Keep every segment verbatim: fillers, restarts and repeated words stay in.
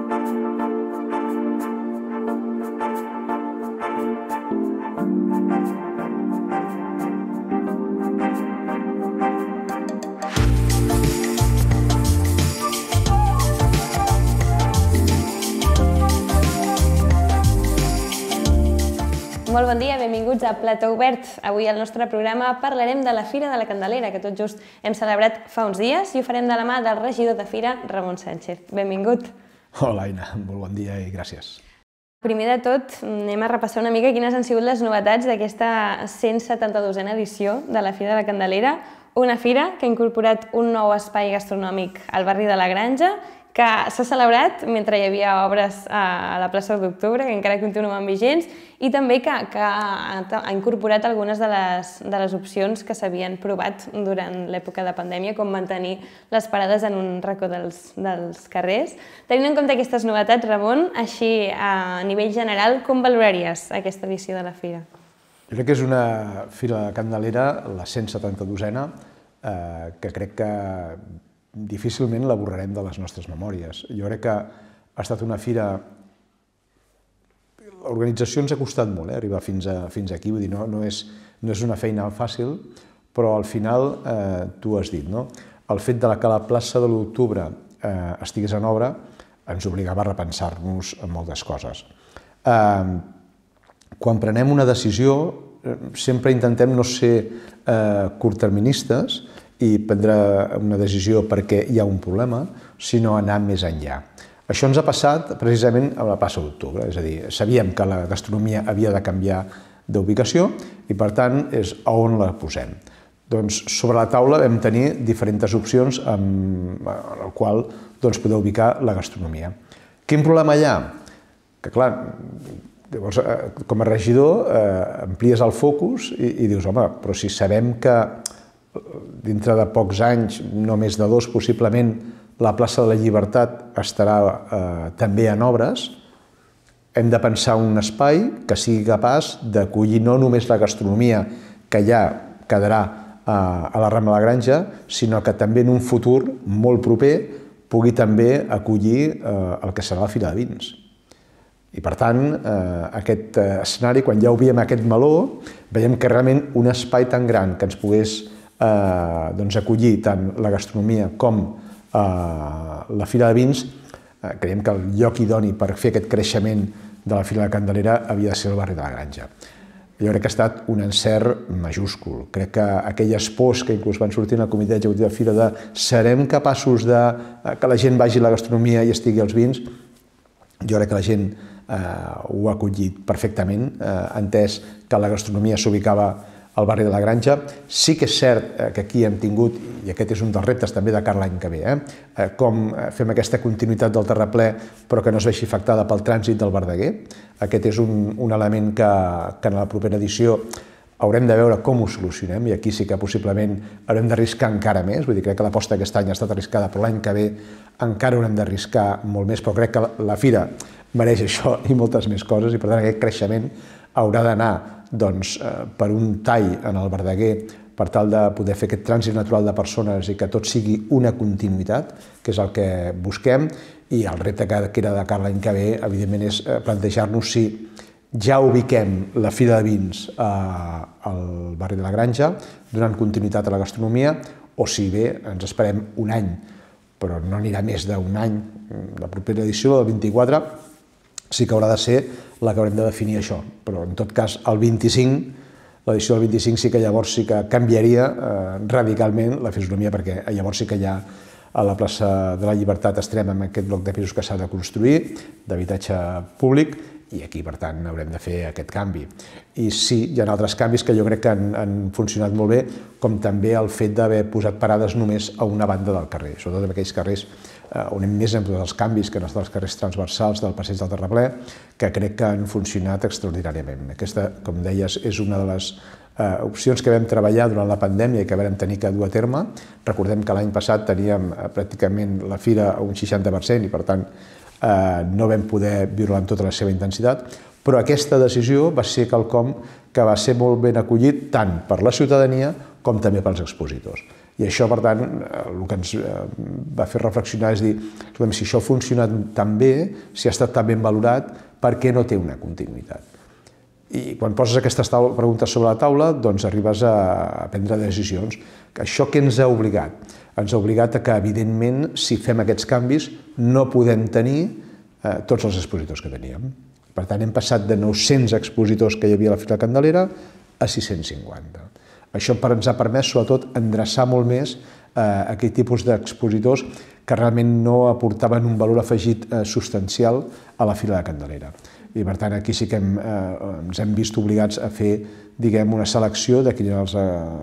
Molt bon dia, benvinguts a Plató Obert. Avui al nostre programa parlarem de la Fira de la Candelera, que tot just hem celebrat fa uns dies, i ho farem de la mà del regidor de Fira, Ramon Sánchez. Benvingut. Hola, Aina. Molt bon dia i gràcies. Primer de tot, anem a repassar una mica quines han sigut les novetats d'aquesta cent setanta-dosena edició de la Fira de la Candelera, una fira que ha incorporat un nou espai gastronòmic al barri de la Granja, que s'ha celebrat mentre hi havia obres a la plaça d'Octubre, que encara continuen vigents, i també que ha incorporat algunes de les opcions que s'havien provat durant l'època de pandèmia, com mantenir les parades en un racó dels carrers. Tenint en compte aquestes novetats, Ramon, així a nivell general, com valoraries aquesta edició de la Fira? Jo crec que és una Fira de la Candelera, la cent setanta-dosena, que crec que difícilment la borrarem de les nostres memòries. Jo crec que ha estat una fira... L'organització ens ha costat molt, arribar fins aquí, vull dir, no és una feina fàcil, però al final, tu ho has dit, el fet que la plaça de l'Octubre estigués en obra ens obligava a repensar-nos en moltes coses. Quan prenem una decisió, sempre intentem no ser curtterministes i prendre una decisió perquè hi ha un problema, sinó anar més enllà. Això ens ha passat precisament a la plaça d'Octubre, és a dir, sabíem que la gastronomia havia de canviar d'ubicació i, per tant, és a on la posem. Doncs sobre la taula vam tenir diferents opcions en el qual poder ubicar la gastronomia. Quin problema hi ha? Que, clar, llavors, com a regidor, amplies el focus i dius, home, però si sabem que dintre de pocs anys, no més de dos possiblement, la plaça de la Llibertat estarà també en obres, hem de pensar un espai que sigui capaç d'acollir no només la gastronomia que ja quedarà a la Rambla de la Granja, sinó que també en un futur molt proper pugui també acollir el que serà la Fira de Vins. I per tant, aquest escenari, quan ja obrim aquest meló, veiem que realment un espai tan gran que ens pogués acollir tant la gastronomia com la Fira de Vins, creiem que el lloc idoni per fer aquest creixement de la Fira de la Candelera havia de ser el barri de la Granja. Jo crec que ha estat un encert majúscul. Crec que aquelles pors que inclús van sortir en el comitè executiu de Fira de serem capaços que la gent vagi a la gastronomia i estigui als vins, jo crec que la gent ho ha acollit perfectament, entès que la gastronomia s'ubicava al barri de la Granja. Sí que és cert que aquí hem tingut, i aquest és un dels reptes també de cara a l'any que ve, com fem aquesta continuïtat del terraplè però que no es vegi afectada pel trànsit del Verdaguer. Aquest és un element que en la propera edició haurem de veure com ho solucionem, i aquí sí que possiblement haurem d'arriscar encara més. Vull dir, crec que l'aposta aquest any ha estat arriscada, però l'any que ve encara haurem d'arriscar molt més, però crec que la Fira mereix això i moltes més coses, i per tant aquest creixement haurà d'anar per un tall en el Verdaguer per tal de poder fer aquest trànsit natural de persones i que tot sigui una continuïtat, que és el que busquem, i el repte que queda de cara a l'any que ve, evidentment, és plantejar-nos si ja ubiquem la Fira de Vins al barri de la Granja, donant continuïtat a la gastronomia, o si bé ens esperem un any, però no anirà més d'un any. La propera edició, la del vint-i-quatre, sí que haurà de ser la que haurem de definir això, però en tot cas el vint-i-cinc, l'edició del vint-i-cinc sí que llavors sí que canviaria radicalment la fisonomia, perquè llavors sí que ja a la plaça de la Llibertat estarem en aquest bloc de pisos que s'ha de construir, d'habitatge públic, i aquí, per tant, haurem de fer aquest canvi. I sí, hi ha altres canvis que jo crec que han funcionat molt bé, com també el fet d'haver posat parades només a una banda del carrer, sobretot en aquells carrers on hem més en tots els canvis que en els carrers transversals del passeig del Terraplè, que crec que han funcionat extraordinàriament. Aquesta, com deies, és una de les opcions que vam treballar durant la pandèmia i que vam tenir que dur a terme. Recordem que l'any passat teníem pràcticament la fira a un seixanta per cent i, per tant, no vam poder viure-la en tota la seva intensitat, però aquesta decisió va ser quelcom que va ser molt ben acollit tant per la ciutadania com també pels expositors. I això, per tant, el que ens va fer reflexionar és dir, si això ha funcionat tan bé, si ha estat tan ben valorat, per què no té una continuïtat? I quan poses aquestes preguntes sobre la taula, doncs arribes a prendre decisions. Això què ens ha obligat? Ens ha obligat a que, evidentment, si fem aquests canvis, no podem tenir tots els expositors que teníem. Per tant, hem passat de nou-cents expositors que hi havia a la Fira Candelera a sis-cents cinquanta. Això ens ha permès, sobretot, endreçar molt més aquell tipus d'expositors que realment no aportaven un valor afegit substancial a la Fira de Candelera. I, per tant, aquí sí que ens hem vist obligats a fer, diguem, una selecció de quins eren els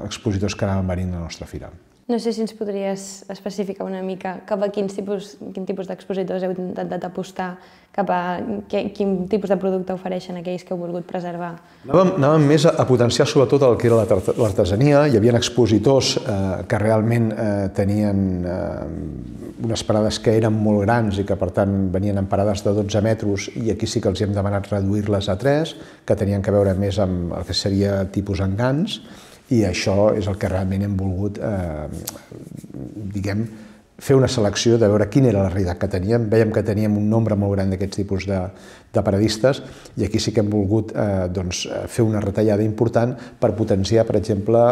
expositors que anaven venint a la nostra fira. No sé si ens podries especificar una mica cap a quins tipus, quin tipus d'expositors heu intentat apostar, cap a quin tipus de producte ofereixen aquells que heu volgut preservar. Anàvem, anàvem més a, a potenciar sobretot el que era l'artesania. Hi havia expositors eh, que realment eh, tenien eh, unes parades que eren molt grans i que per tant venien en parades de dotze metres, i aquí sí que els hem demanat reduir-les a tres, que tenien que veure més amb el que seria tipus engans. I això és el que realment hem volgut, diguem, fer una selecció de veure quina era la realitat que teníem. Vèiem que teníem un nombre molt gran d'aquests tipus de, de paradistes, i aquí sí que hem volgut eh, doncs, fer una retallada important per potenciar, per exemple,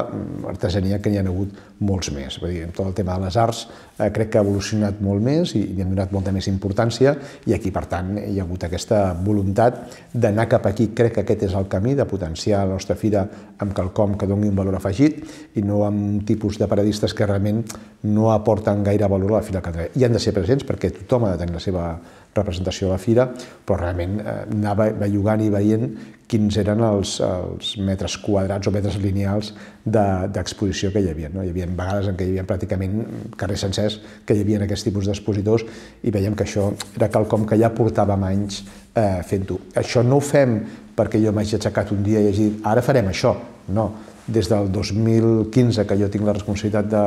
artesania, que n'hi ha hagut molts més. Vull dir, tot el tema de les arts eh, crec que ha evolucionat molt més i hi hem donat molta més importància, i aquí, per tant, hi ha hagut aquesta voluntat d'anar cap aquí. Crec que aquest és el camí, de potenciar la nostra fira amb quelcom que doni un valor afegit i no amb un tipus de paradistes que realment no aporten gaire valor a la Fira Candelera. Hi han de ser presents perquè tothom ha de tenir la seva representació a la fira, però realment anar bellugant i veient quins eren els, els metres quadrats o metres lineals d'exposició que hi havia. No? Hi havia vegades en què hi havia pràcticament carrers sencers que hi havia aquest tipus d'expositors, i veiem que això era quelcom que ja portàvem anys eh, fent-ho. Això no ho fem perquè jo m'hagi aixecat un dia i hagi dit ara farem això. No. Des del dos mil quinze que jo tinc la responsabilitat de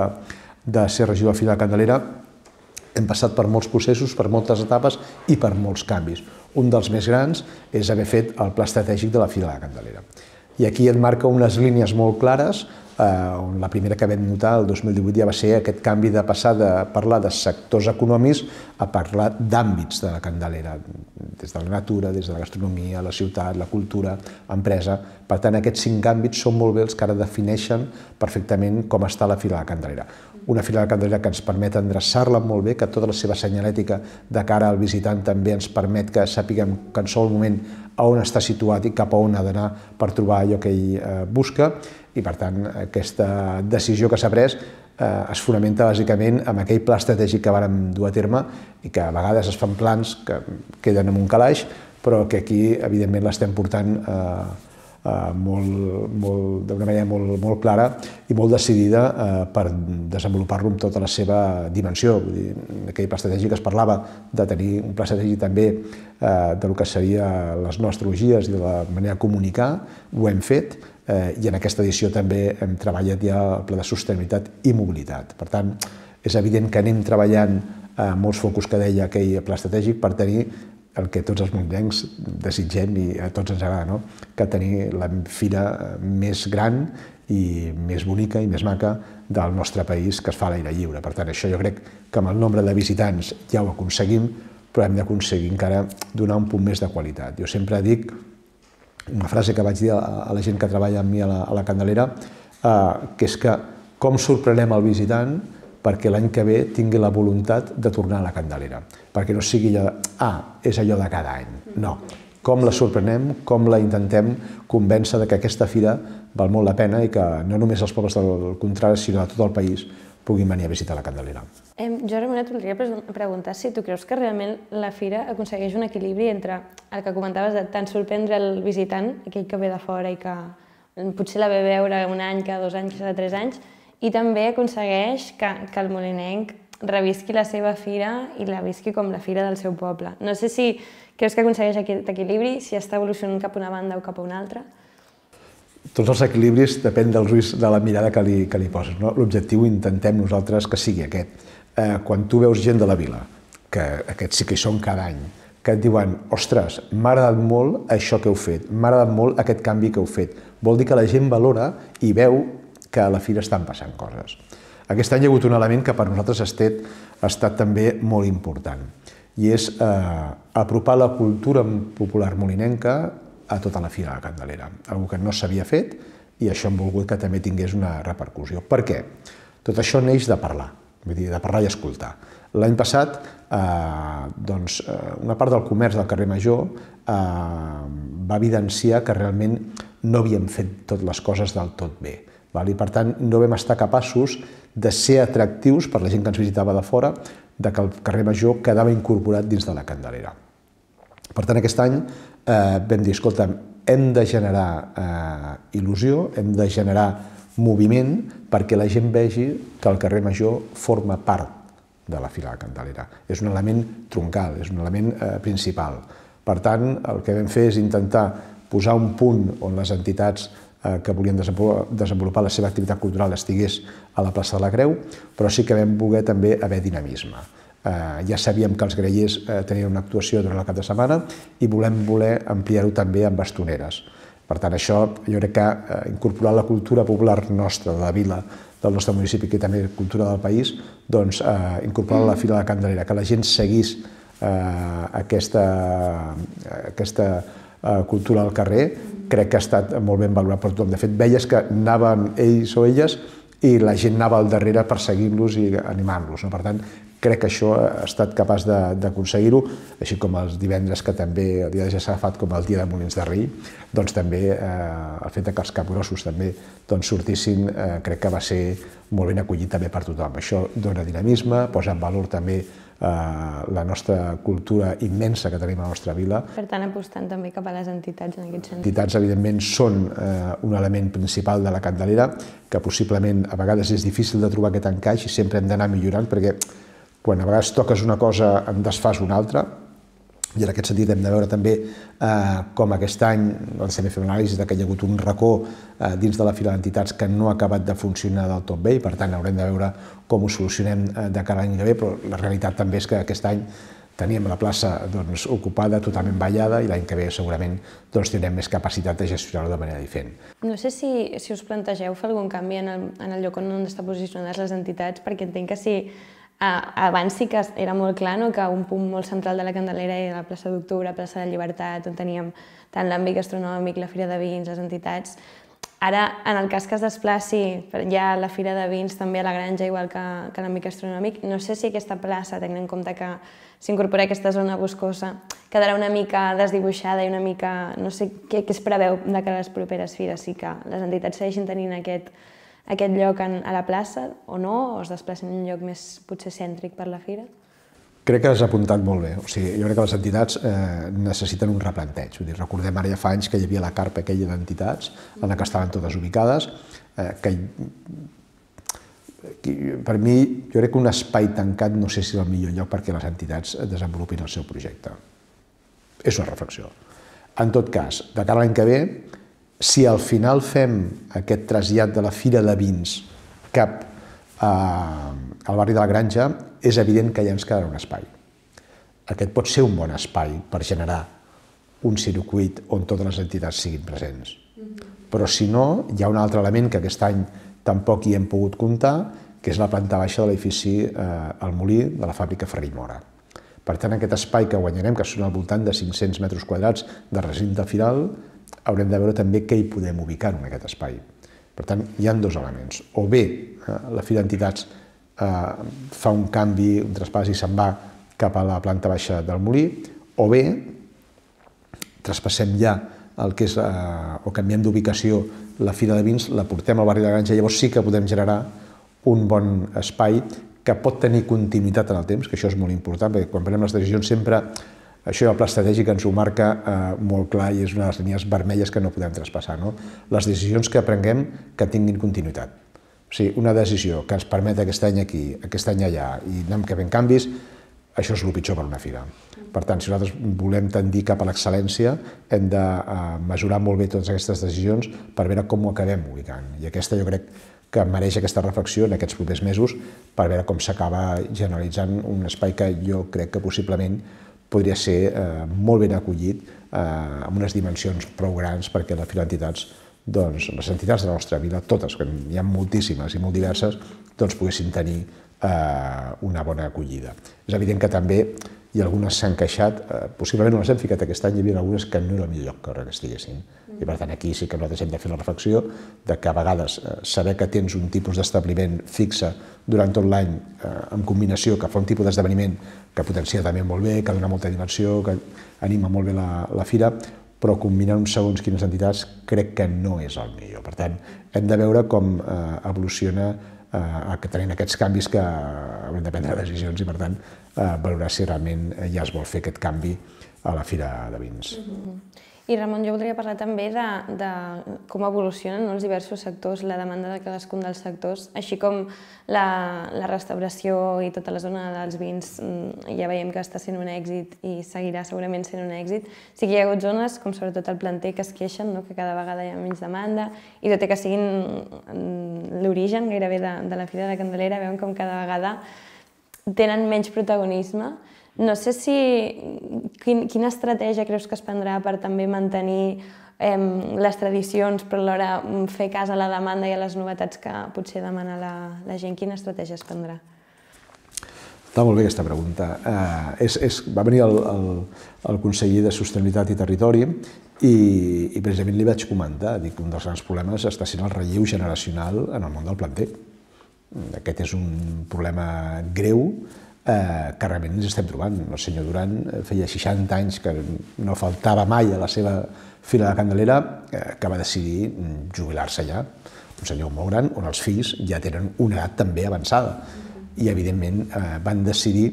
de ser regidor de la Fira de Candelera, hem passat per molts processos, per moltes etapes i per molts canvis. Un dels més grans és haver fet el pla estratègic de la Fira de Candelera. I aquí et marca unes línies molt clares, on la primera que vam notar el dos mil divuit ja va ser aquest canvi de passar de parlar de sectors econòmics a parlar d'àmbits de la Candelera, des de la natura, des de la gastronomia, la ciutat, la cultura, empresa. Per tant, aquests cinc àmbits són molt bé els que ara defineixen perfectament com està la Fira de Candelera. Una Fira de Candelera que ens permet endreçar-la molt bé, que tota la seva senyalètica de cara al visitant també ens permet que sàpiguem que en qualsevol moment a on està situat i cap a on ha d'anar per trobar allò que ell busca, i per tant aquesta decisió que s'ha pres es fonamenta bàsicament en aquell pla estratègic que vàrem dur a terme, i que a vegades es fan plans que queden en un calaix, però que aquí evidentment l'estem portant d'una manera molt clara i molt decidida per desenvolupar-lo amb tota la seva dimensió. En aquell pla estratègic es parlava de tenir un pla estratègic també del que serien les noves tecnologies i de la manera de comunicar. Ho hem fet, i en aquesta edició també hem treballat ja el pla de sostenibilitat i mobilitat. Per tant, és evident que anem treballant molts focus que deia aquell pla estratègic per tenir el que tots els muntanyencs desitgem i a tots ens agrada, que tenir la fira més gran i més bonica i més maca del nostre país, que es fa a l'aire lliure. Per tant, això jo crec que amb el nombre de visitants ja ho aconseguim, però hem d'aconseguir encara donar un punt més de qualitat. Jo sempre dic una frase que vaig dir a la gent que treballa amb mi a la Candelera, que és que com sorprenem el visitant perquè l'any que ve tingui la voluntat de tornar a la Candelera, perquè no sigui allò de, ah, és allò de cada any. No, com la sorprenem, com la intentem convèncer que aquesta fira val molt la pena i que no només els pobles del contrari, sinó de tot el país puguin venir a visitar la Candelera. Jo, Ramon, et voldria preguntar si tu creus que realment la fira aconsegueix un equilibri entre el que comentaves de tant sorprendre el visitant, aquell que ve de fora i que potser la ve veure un any, cada dos anys, cada tres anys, i també aconsegueix que el molinenc revisqui la seva fira i la visqui com la fira del seu poble. No sé si creus que aconsegueix aquest equilibri, si està evolucionant cap a una banda o cap a una altra? Tots els equilibris depèn dels ulls de la mirada que li poses. L'objectiu intentem nosaltres que sigui aquest. Quan tu veus gent de la vila, que aquests sí que hi són cada any, que et diuen, ostres, m'ha agradat molt això que heu fet, m'ha agradat molt aquest canvi que heu fet, vol dir que la gent valora i veu que a la fira estan passant coses. Aquest any hi ha hagut un element que per nosaltres ha estat, ha estat també molt important, i és eh, apropar la cultura popular molinenca a tota la Fira de la Candelera, una cosa que no s'havia fet, i això hem volgut que també tingués una repercussió. Per què? Tot això neix de parlar, vull dir, de parlar i escoltar. L'any passat, eh, doncs, una part del comerç del carrer Major eh, va evidenciar que realment no havíem fet totes les coses del tot bé. Val? I per tant, no vam estar capaços de ser atractius per la gent que ens visitava de fora, de que el carrer Major quedava incorporat dins de la Candelera. Per tant, aquest any eh, vam dir, escolta, hem de generar eh, il·lusió, hem de generar moviment perquè la gent vegi que el carrer Major forma part de la Fira de la Candelera. És un element troncal, és un element eh, principal. Per tant, el que vam fer és intentar posar un punt on les entitats eh, que volien desenvolupar la seva activitat cultural estigués a la plaça de la Creu, però sí que vam voler també haver dinamisme. Eh, ja sabíem que els grallers eh, tenien una actuació durant el cap de setmana i volem voler ampliar-ho també amb bastoneres. Per tant, això jo crec que eh, incorporar la cultura popular nostra, de la vila, del nostre municipi, que també és cultura del país, doncs eh, incorporar la Fira de la Candelera, que la gent seguís eh, aquesta, aquesta eh, cultura al carrer, crec que ha estat molt ben valorat per tothom. De fet, veies que anaven ells o elles i la gent anava al darrere per seguir-los i animar-los. No? Per tant, crec que això ha estat capaç d'aconseguir-ho, així com els divendres que també el dia de ja s'ha agafat com el dia de Molins de Rei, doncs també eh, el fet que els capgrossos també doncs, sortissin eh, crec que va ser molt ben acollit també per tothom. Això dona dinamisme, posa en valor també eh, la nostra cultura immensa que tenim a la nostra vila. Per tant, apostant també cap a les entitats en aquest sentit. Les entitats, evidentment, són eh, un element principal de la Candelera, que possiblement a vegades és difícil de trobar aquest encaix i sempre hem d'anar millorant, perquè quan a vegades toques una cosa en desfas una altra, i en aquest sentit hem de veure també eh, com aquest any doncs, també fem l'anàlisi que hi ha hagut un racó eh, dins de la fila d'entitats que no ha acabat de funcionar del tot bé i per tant haurem de veure com ho solucionem eh, de cara a l'any que ve, però la realitat també és que aquest any teníem la plaça doncs, ocupada, totalment ballada, i l'any que ve segurament doncs, tindrem més capacitat de gestionar-ho de manera diferent. No sé si, si us plantegeu fer algun canvi en el, en el lloc on estan positiονades les entitats, perquè entenc que si abans sí que era molt clar no? Que un punt molt central de la Candelera era la plaça d'Octubre, la plaça de Llibertat, on teníem tant l'àmbit gastronòmic, la Fira de Vins, les entitats. Ara, en el cas que es desplaci ja la Fira de Vins també a la Granja, igual que, que l'àmbit gastronòmic, no sé si aquesta plaça, tenint en compte que s'incorpora aquesta zona boscosa, quedarà una mica desdibuixada i una mica... no sé què, què es preveu de cara a les properes fires, si que les entitats segueixin tenint aquest aquest lloc a la plaça o no, o es desplacen en un lloc més potser cèntric per la fira? Crec que has apuntat molt bé. O sigui, jo crec que les entitats eh, necessiten un replanteig. Vull dir, recordem ara ja fa anys que hi havia la carpa aquella d'entitats en la que estaven totes ubicades, eh, que per mi jo crec que un espai tancat no sé si és el millor lloc perquè les entitats desenvolupin el seu projecte. És una reflexió. En tot cas, de cara a l'any que ve, si al final fem aquest trasllat de la Fira de Vins cap a, al barri de la Granja, és evident que ja ens quedarà un espai. Aquest pot ser un bon espai per generar un circuit on totes les entitats siguin presents. Però si no, hi ha un altre element que aquest any tampoc hi hem pogut comptar, que és la planta baixa de l'edifici eh, al Molí de la fàbrica Ferri-Mora. Per tant, aquest espai que guanyarem, que són al voltant de cinc-cents metres quadrats de recinte firal, haurem de veure també què hi podem ubicar en aquest espai. Per tant, hi ha dos elements. O bé eh, la Fira d'Entitats eh, fa un canvi, un traspàs i se'n va cap a la planta baixa del Molí, o bé traspassem ja el que és, eh, o canviem d'ubicació la Fira de Vins, la portem al barri de la Granja, llavors sí que podem generar un bon espai que pot tenir continuïtat en el temps, que això és molt important, perquè quan prenem les decisions sempre això el pla estratègic ens ho marca eh, molt clar i és una de les línies vermelles que no podem traspassar. No? Les decisions que prenguem que tinguin continuïtat. O sigui, una decisió que ens permet aquest any aquí, aquest any allà i anem que fem canvis, això és el pitjor per una fira. Per tant, si nosaltres volem tendir cap a l'excel·lència, hem de eh, mesurar molt bé totes aquestes decisions per veure com ho acabem ubicant. I aquesta jo crec que mereix aquesta reflexió en aquests propers mesos per veure com s'acaba generalitzant un espai que jo crec que possiblement podria ser eh, molt ben acollit eh, amb unes dimensions prou grans perquè la Fira d'Entitats, doncs, les entitats de la nostra vila, totes, que hi ha moltíssimes i molt diverses, doncs poguessin tenir una bona acollida. És evident que també i algunes s'han queixat, possiblement no les hem ficat aquest any, hi havia algunes que no era el millor lloc que estiguessin. I per tant aquí sí que nosaltres hem de fer la reflexió de que a vegades saber que tens un tipus d'establiment fixe durant tot l'any en combinació, que fa un tipus d'esdeveniment que potencia també molt bé, que dona molta dimensió, que anima molt bé la fira, però combinar uns segons quines entitats crec que no és el millor. Per tant, hem de veure com evoluciona que tenim aquests canvis que haurem de prendre decisions i, per tant, valorar si realment ja es vol fer aquest canvi a la Fira de Vins. I, Ramon, jo voldria parlar també de com evolucionen els diversos sectors, la demanda de cadascun dels sectors, així com la restauració i tota la zona dels vins ja veiem que està sent un èxit i seguirà segurament sent un èxit. Sí que hi ha hagut zones, com sobretot el planter, que es queixen, que cada vegada hi ha menys demanda, i tot i que siguin l'origen gairebé de la Fira de la Candelera, veiem com cada vegada tenen menys protagonisme. No sé si... Quina estratègia creus que es prendrà per també mantenir les tradicions, però alhora fer cas a la demanda i a les novetats que potser demana la gent? Quina estratègia es prendrà? Està molt bé aquesta pregunta. Va venir el conseller de Sostenibilitat i Territori i precisament li vaig comentar que un dels grans problemes està sent el relleu generacional en el món del planter. Aquest és un problema greu que realment ens estem trobant. El senyor Duran feia seixanta anys que no faltava mai a la seva Fira de la Candelera, que va decidir jubilar-se allà. Un senyor molt gran, on els fills ja tenen una edat també avançada. I, evidentment, van decidir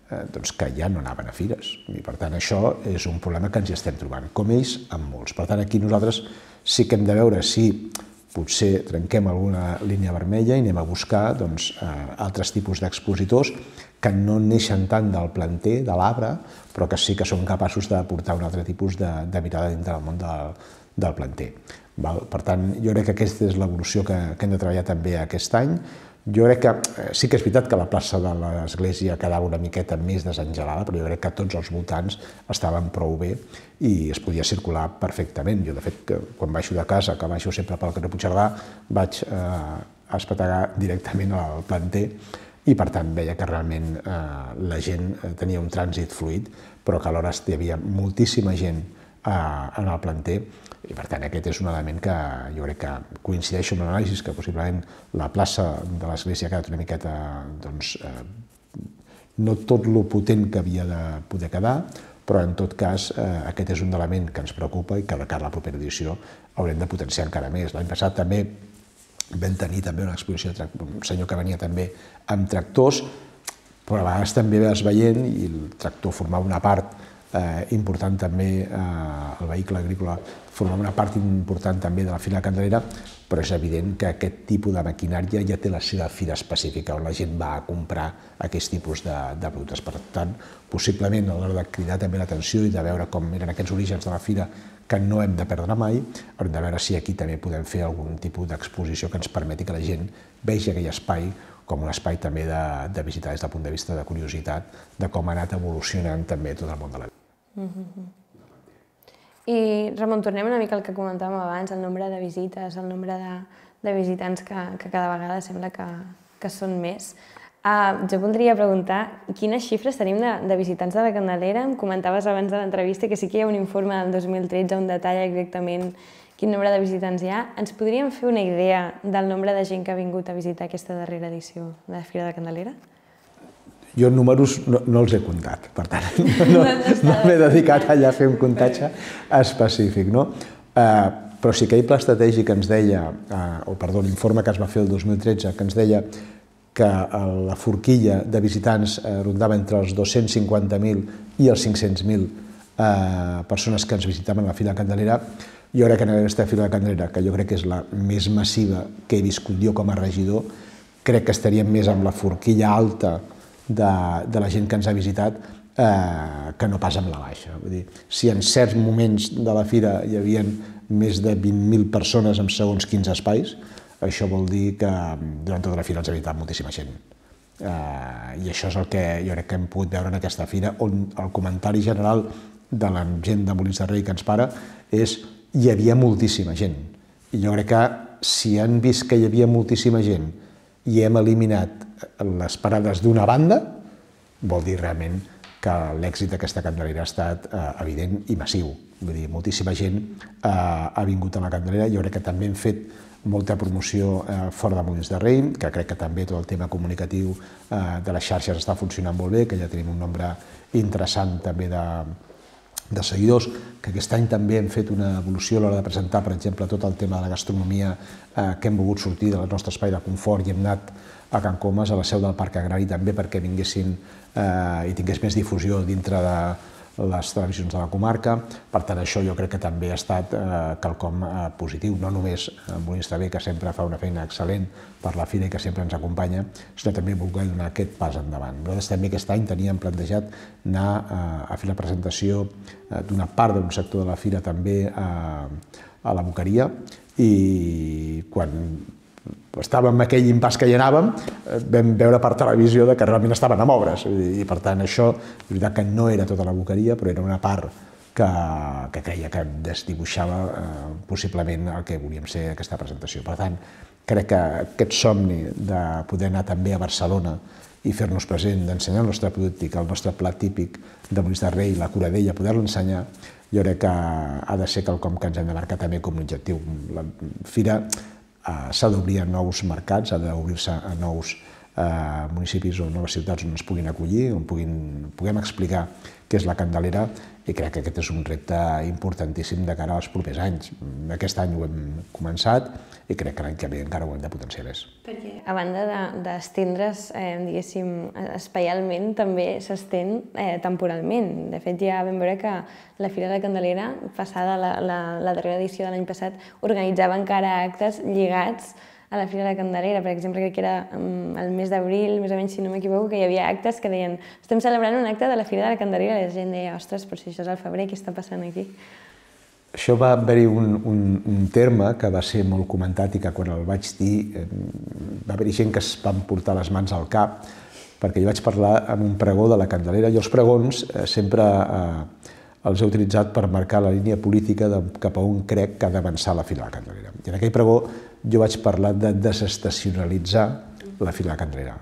que ja no anaven a fires. I, per tant, això és un problema que ens hi estem trobant, com ells amb molts. Per tant, aquí nosaltres sí que hem de veure si potser trenquem alguna línia vermella i anem a buscar altres tipus d'expositors que no neixen tant del planter, de l'arbre, però que sí que són capaços d'aportar un altre tipus de mirada dintre del món del planter. Per tant, jo crec que aquesta és l'evolució que hem de treballar també aquest any. Jo crec que sí que és veritat que la plaça de l'església quedava una miqueta més desengelada, però jo crec que tots els voltants estaven prou bé i es podia circular perfectament. Jo, de fet, quan baixo de casa, que baixo sempre pel carrer Puigcerdà, vaig espetegar directament al planter i, per tant, veia que realment la gent tenia un trànsit fluid, però que alhora hi havia moltíssima gent en el planter. I, per tant, aquest és un element que jo crec que coincideixo amb l'anàlisi, que possiblement la plaça de l'església ha quedat una miqueta, doncs, no tot lo potent que havia de poder quedar, però en tot cas aquest és un element que ens preocupa i que de cara a la propera edició haurem de potenciar encara més. L'any passat també vam tenir també una exposició d'un senyor que venia també amb tractors, però a vegades també vas veient i el tractor formava una part important també, el vehicle agrícola formava una part important també de la Fira de la Candelera, però és evident que aquest tipus de maquinària ja té la seva fira específica on la gent va a comprar aquest tipus de productes. Per tant, possiblement a l'hora de cridar també l'atenció i de veure com eren aquests orígens de la fira que no hem de perdre mai, haurem de veure si aquí també podem fer algun tipus d'exposició que ens permeti que la gent vegi aquell espai com un espai també de visitar des del punt de vista de curiositat de com ha anat evolucionant també tot el món de la vida. I, Ramon, tornem una mica al que comentàvem abans, el nombre de visites, el nombre de visitants que cada vegada sembla que són més. Jo voldria preguntar quines xifres tenim de visitants de la Candelera. Em comentaves abans de l'entrevista que sí que hi ha un informe del dos mil tretze on detalla exactament quin nombre de visitants hi ha. Ens podríem fer una idea del nombre de gent que ha vingut a visitar aquesta darrera edició de la Fira de la Candelera? Jo números no els he comptat, per tant, no m'he dedicat allà a fer un comptatge específic. Però sí que hi ha pla estratègic que ens deia, o perdó, l'informe que es va fer el dos mil tretze, que ens deia que la forquilla de visitants rondava entre els dos-cents cinquanta mil i els cinc-cents mil persones que ens visitaven a la Fira de la Candelera. Jo crec que en aquesta Fira de la Candelera, que jo crec que és la més massiva que he viscut jo com a regidor, crec que estaríem més amb la forquilla alta de la gent que ens ha visitat que no pas amb la baixa. Vull dir, si en certs moments de la fira hi havia més de vint mil persones en segons quins espais, això vol dir que durant tota la fira ens ha visitat moltíssima gent. I això és el que jo crec que hem pogut veure en aquesta fira, on el comentari general de la gent de Molins de Rei que ens para és hi havia moltíssima gent. I jo crec que si han vist que hi havia moltíssima gent i hem eliminat les parades d'una banda, vol dir realment que l'èxit d'aquesta Candelera ha estat evident i massiu. Vull dir, moltíssima gent ha vingut a la Candelera. Jo crec que també hem fet molta promoció fora de Molins de Rei, que crec que també tot el tema comunicatiu de les xarxes està funcionant molt bé, que ja tenim un nombre interessant també de de seguidors, que aquest any també hem fet una evolució a l'hora de presentar, per exemple, tot el tema de la gastronomia, que hem volgut sortir del nostre espai de confort i hem anat a Can Comas, a la seu del Parc Agrari, també perquè vinguessin i tingués més difusió dintre de les televisions de la comarca. Per tant, això jo crec que també ha estat quelcom positiu, no només Molins de Rei, que sempre fa una feina excel·lent per la fira i que sempre ens acompanya, sinó també voler donar aquest pas endavant. Nosaltres també aquest any teníem plantejat anar a fer la presentació d'una part d'un sector de la fira també a la Boqueria, i quan estàvem en aquell impàs que hi anàvem, vam veure per televisió que realment estaven amb obres, i per tant això, és veritat que no era tota la Boqueria, però era una part que creia que desdibuixava possiblement el que volíem ser aquesta presentació. Per tant, crec que aquest somni de poder anar també a Barcelona i fer-nos present, d'ensenyar el nostre producte, el nostre plat típic de Molins de Rei, la Coradella, poder-lo ensenyar, jo crec que ha de ser quelcom que ens hem de marcar també com un objectiu. La fira s'ha d'obrir a nous mercats, ha d'obrir-se a nous municipis o noves ciutats on ens puguin acollir, on puguem explicar què és la Candelera, i crec que aquest és un repte importantíssim de cara als propers anys. Aquest any ho hem començat i crec que l'any que ve encara ho hem de potenciar més. Perquè a banda d'estendre's, diguéssim, espaialment, també s'estén temporalment. De fet, ja vam veure que la Fira de la Candelera, passada la darrera edició de l'any passat, organitzava encara actes lligats a la Fira de la Candelera. Per exemple, crec que era el mes d'abril, més o menys, si no m'equivoco, que hi havia actes que deien estem celebrant un acte de la Fira de la Candelera, i la gent deia, ostres, però si això és al febrer, què està passant aquí? Això va haver-hi un terme que va ser molt comentat i que quan el vaig dir va haver-hi gent que es van portar les mans al cap, perquè jo vaig parlar amb un pregó de la Candelera, i els pregons sempre els he utilitzat per marcar la línia política cap a on crec que ha d'avançar la Fira de la Candelera. I en aquell pregó jo vaig parlar de desestacionalitzar la Fira de la Candelera.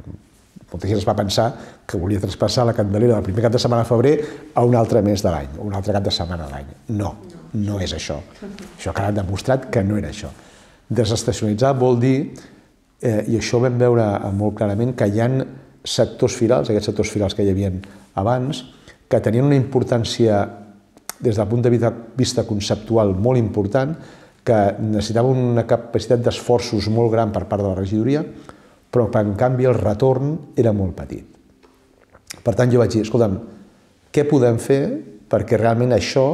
Molta gent es va pensar que volia traspassar la Candelera del primer cap de setmana de febrer a un altre mes de l'any, o un altre cap de setmana de l'any. No, no és això. Això ha quedat demostrat que no era això. Desestacionalitzar vol dir, i això ho vam veure molt clarament, que hi ha sectors firals, aquests sectors firals que hi havia abans, que tenien una importància des del punt de vista conceptual molt important, que necessitaven una capacitat d'esforços molt gran per part de la regidoria, però que en canvi el retorn era molt petit. Per tant, jo vaig dir, escolta'm, què podem fer perquè realment això,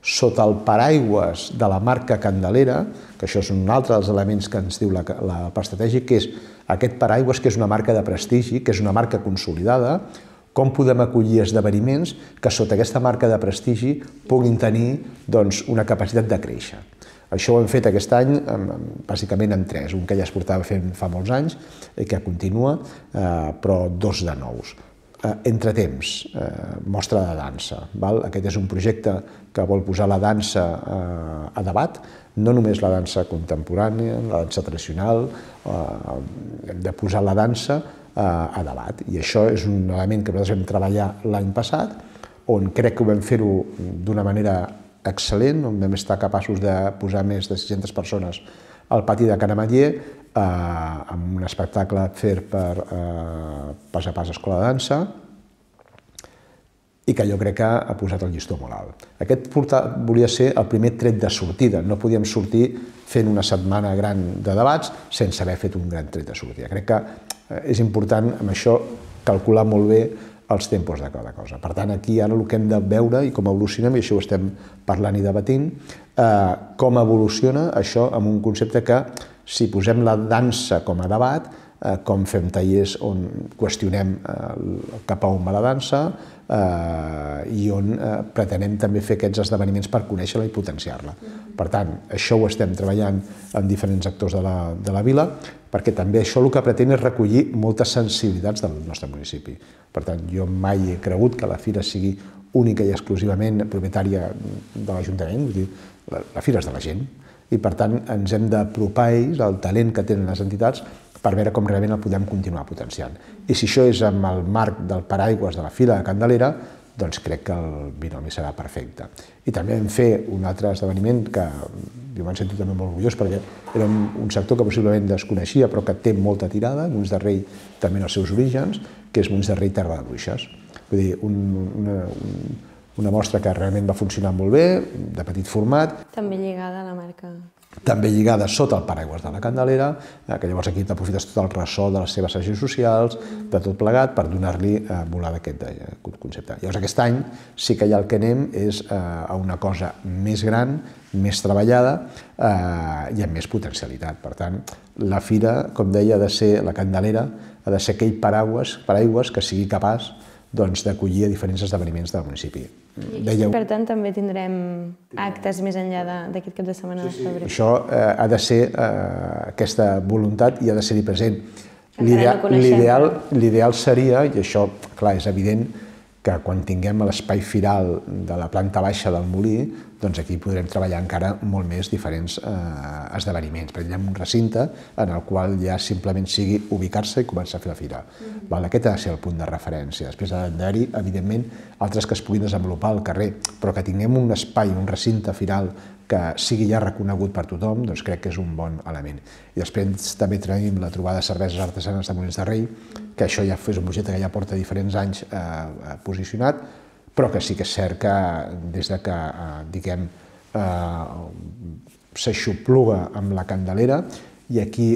sota el paraigües de la marca Candelera, que això és un altre dels elements que ens diu el pla estratègic, que és aquest paraigües que és una marca de prestigi, que és una marca consolidada, com podem acollir esdeveniments que sota aquesta marca de prestigi puguin tenir una capacitat de créixer. Això ho hem fet aquest any bàsicament en tres, un que ja es portava fent fa molts anys i que continua, però dos de nous. Entretemps, mostra de dansa. Aquest és un projecte que vol posar la dansa a debat, no només la dansa contemporània, la dansa tradicional, hem de posar la dansa a debat. I això és un element que nosaltres vam treballar l'any passat, on crec que ho vam fer-ho d'una manera excel·lent, on vam estar capaços de posar més de sis-centes persones al pati de Can Ametller, amb un espectacle fet per Pas a Pas Escola de Dansa, i que jo crec que ha posat el llistó molt alt. Aquest volia ser el primer tret de sortida, no podíem sortir fent una setmana gran de debats sense haver fet un gran tret de sortida. Crec que és important amb això calcular molt bé els tempos de cada cosa. Per tant, aquí ara el que hem de veure i com evolucionem, i això ho estem parlant i debatint, com evoluciona això amb un concepte que, si posem la dansa com a debat, com fem tallers on qüestionem cap a on va la dansa i on pretenem també fer aquests esdeveniments per conèixer-la i potenciar-la. Per tant, això ho estem treballant en diferents actors de la vila, perquè també això el que pretén és recollir moltes sensibilitats del nostre municipi. Per tant, jo mai he cregut que la fira sigui única i exclusivament propietària de l'Ajuntament, vull dir, la fira és de la gent, i per tant ens hem d'apropar a ells, al talent que tenen les entitats, per veure com realment el podem continuar potenciant. I si això és amb el marc del paraigües de la Fira de Candelera, doncs crec que el binomi serà perfecte. I també vam fer un altre esdeveniment que jo m'han sentit també molt orgullós perquè era un sector que possiblement desconeixia però que té molta tirada, Molins de Rei també en els seus orígens, que és Molins de Rei Terra de Bruixes. Vull dir, un, una, un, una mostra que realment va funcionar molt bé, de petit format. També lligada a la marca. També lligada sota el paraigües de la Candelera, que llavors aquí t'aprofites tot el ressò de les seves agents socials, de tot plegat, per donar-li volar d'aquest concepte. Llavors aquest any sí que ja el que anem és a una cosa més gran, més treballada i amb més potencialitat. Per tant, la fira, com deia, ha de ser la Candelera, ha de ser aquell paraigües que sigui capaç d'acollir a diferents esdeveniments del municipi. I per tant també tindrem actes més enllà d'aquest cap de setmana de febrer. Això ha de ser aquesta voluntat i ha de ser-hi present. L'ideal seria, i això clar és evident, que quan tinguem l'espai firal de la planta baixa del molí, doncs aquí podrem treballar encara molt més diferents esdeveniments. Per exemple, un recinte en el qual ja simplement sigui ubicar-se i començar a fer la fira. Aquest ha de ser el punt de referència. Després ha d'haver-hi, evidentment, altres que es puguin desenvolupar al carrer, però que tinguem un espai, un recinte firal que sigui ja reconegut per tothom, doncs crec que és un bon element. I després també tenim la trobada de cerveses artesanes de Molins de Rei, que això ja és un projecte que ja porta diferents anys posicionat, però que sí que és cert que des que, diguem, s'aixopluga amb la Candelera, i aquí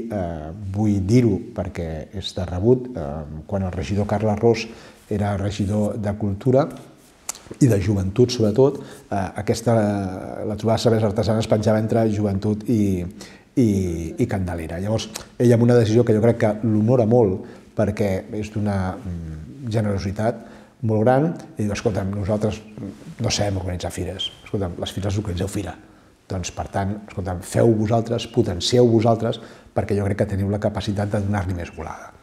vull dir-ho perquè és de rebut, quan el regidor Carles Ros era regidor de Cultura, i de joventut, sobretot, aquesta, la trobada de cerveses artesanes penjava entre joventut i, i, i Candelera. Llavors, ell amb una decisió que jo crec que l'honora molt, perquè és d'una generositat molt gran, i diu, escolta'm, nosaltres no sabem organitzar fires, escolta'm, les fires organitzeu fira. Doncs, per tant, escolta'm, feu vosaltres, potencieu vosaltres, perquè jo crec que teniu la capacitat de donar-li més volada.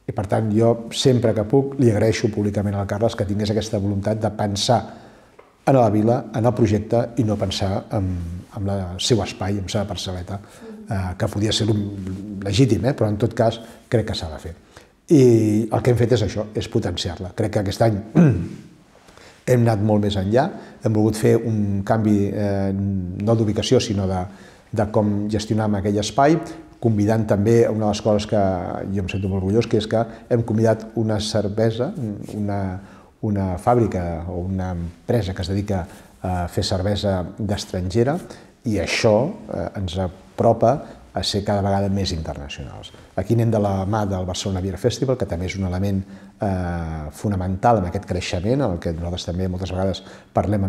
I per tant, jo sempre que puc li agraeixo públicament al Carles que tingués aquesta voluntat de pensar en la vila, en el projecte i no pensar en el seu espai, en la seva parcel·leta, que podia ser legítim, però en tot cas crec que s'ha de fer. I el que hem fet és això, és potenciar-la. Crec que aquest any hem anat molt més enllà, hem volgut fer un canvi no d'ubicació, sinó de com gestionar aquell espai, convidant també una de les coses que jo em sento molt orgullós, que és que hem convidat una cervesa, una fàbrica o una empresa que es dedica a fer cervesa d'estrangera, i això ens apropa a ser cada vegada més internacionals. Aquí anem de la mà del Barcelona Beer Festival, que també és un element fonamental en aquest creixement, en el que nosaltres també moltes vegades parlem